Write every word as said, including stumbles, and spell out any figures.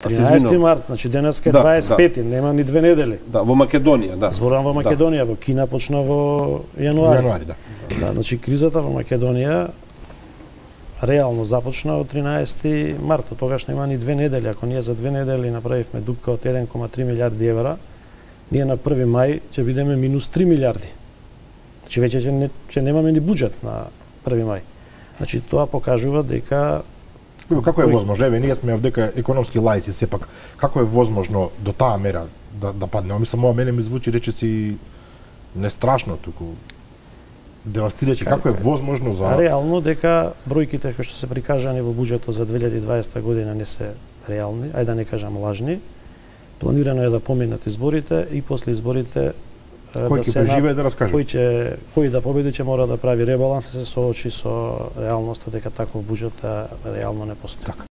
тринаесети март, значи денеска е Да, дваесет и пети, да. нема ни две недели. Да, во Македонија, да. Зборам во Македонија, во Кина почна во јануари. Јануари, да. Да, значи кризата во Македонија реално започна од тринаесети март, тогаш нема ни две недели. Ако ние за две недели направивме дупка од еден кома три милијарди евра, ние на први мај ќе бидеме минус три милијарди. Значи веќе ќе, не, ќе немаме ни буџет на први мај. Значи тоа покажува дека Како е возможно? Еве, ние сме овдека економски лаици сепак. Како е возможно до таа мера да да падне? Мислам, ова мене ми звучи речиси не страшно, туку девастирајќи. Како е возможно за реално дека бројките кои што се прикажани во буџетот за две илјади и дваесета година не се реални, ајде да не кажам лажни. Планирано е да поминат изборите и после изборите кој да ќе се преживее да раскаже. Кој ќе кој да победи ќе мора да прави ребаланс и се соочи со реалноста дека таков буџет реално не постои.